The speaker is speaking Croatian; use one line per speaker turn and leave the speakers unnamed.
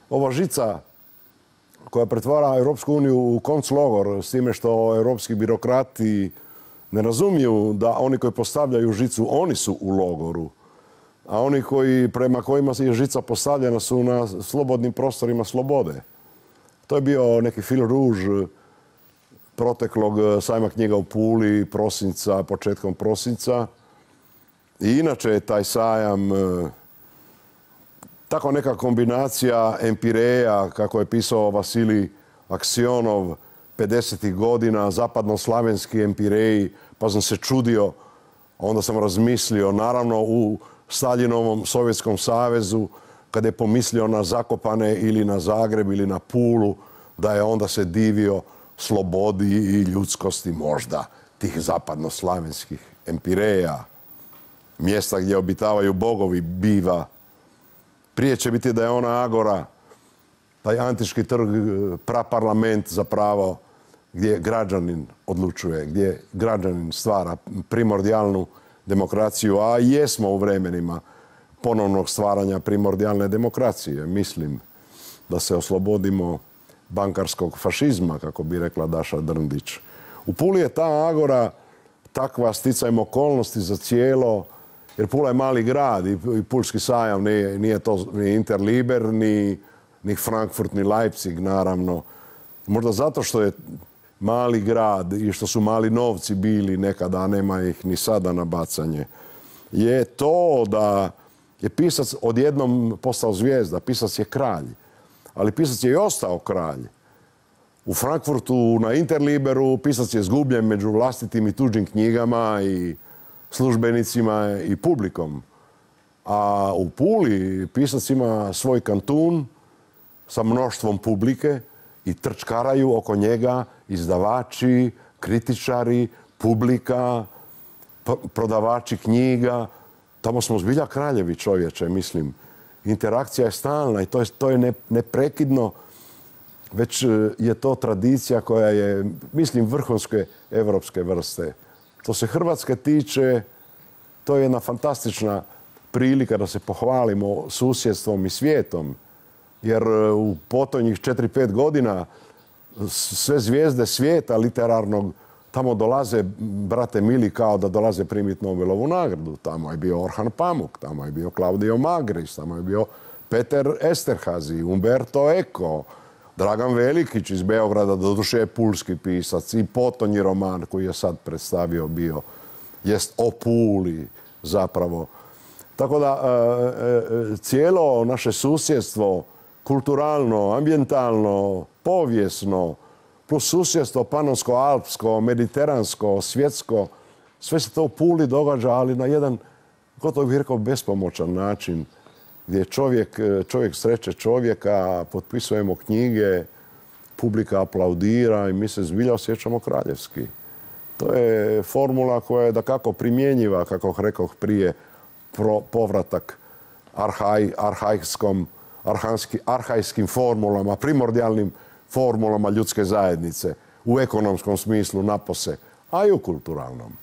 ova žica koja pretvara Europsku uniju u konclogor s time što europski birokrati ne razumiju da oni koji postavljaju žicu, oni su u logoru. A oni prema kojima je žica postavljena su na slobodnim prostorima slobode. To je bio neki fil rouge proteklog sajma knjiga u Puli, početkom prosinca. I inače je taj sajam tako neka kombinacija empireja, kako je pisao Vasilij Aksionov 50. godina, zapadnoslavenski empireji, pa sam se čudio, onda sam razmislio, naravno u Staljinovom Sovjetskom savezu, kada je pomislio na Zakopane ili na Zagreb ili na Pulu, da je onda se divio slobodi i ljudskosti možda tih zapadnoslavenskih empireja, mjesta gdje obitavaju bogovi biva. Prije će biti da je ona agora, taj antički trg, praparlament zapravo, gdje građanin odlučuje, gdje građanin stvara primordijalnu demokraciju, a jesmo u vremenima ponovnog stvaranja primordijalne demokracije. Mislim da se oslobodimo bankarskog fašizma, kako bi rekla Daša Drndić. U Puli je ta agora takva sticajem okolnosti za cijelo, jer Pula je mali grad i Pulski sajam nije to ni Interliber, ni Frankfurt, ni Leipzig, naravno. Možda zato što je mali grad i što su mali novci bili nekada, a nema ih ni sada na bacanje, je to da je pisac odjednom postao zvijezda. Pisac je kralj, ali pisac je i ostao kralj. U Frankfurtu na Interliberu pisac je zgubljen među vlastitim i tuđim knjigama i službenicima i publikom. A u Puli pisac ima svoj kantun sa mnoštvom publike i trčkaraju oko njega izdavači, kritičari, publika, prodavači knjiga. Tamo smo zbilja kraljevi, čovječe, mislim. Interakcija je stalna i to je neprekidno. Već je to tradicija koja je, mislim, vrhunske evropske vrste. Što se Hrvatske tiče, to je jedna fantastična prilika da se pohvalimo susjedstvom i svijetom. Jer u potonjih 4-5 godina sve zvijezde svijeta literarnog tamo dolaze, brate mili, kao da dolaze primiti Nobelovu nagradu. Tamo je bio Orhan Pamuk, tamo je bio Claudio Magris, tamo je bio Peter Esterhazy, Umberto Eco, Dragan Velikić iz Beograda, doduše je pulski pisac, i potonji roman koji je sad predstavio bio, jest o Puli zapravo. Tako da cijelo naše susjedstvo, kulturalno, ambijentalno, povijesno, plus susjedstvo panonsko-alpsko, mediteransko, svjetsko, sve se to u Puli događa, ali na jedan, gotovo bih rekao, bespomoćan način, gdje čovjek sreće čovjeka, potpisujemo knjige, publika aplaudira i mi se zbilja osjećamo kraljevski. To je formula koja je dakako primjenjiva, kako rekoh prije, povratak arhajskim formulama, primordijalnim formulama ljudske zajednice, u ekonomskom smislu napose, a i u kulturalnom.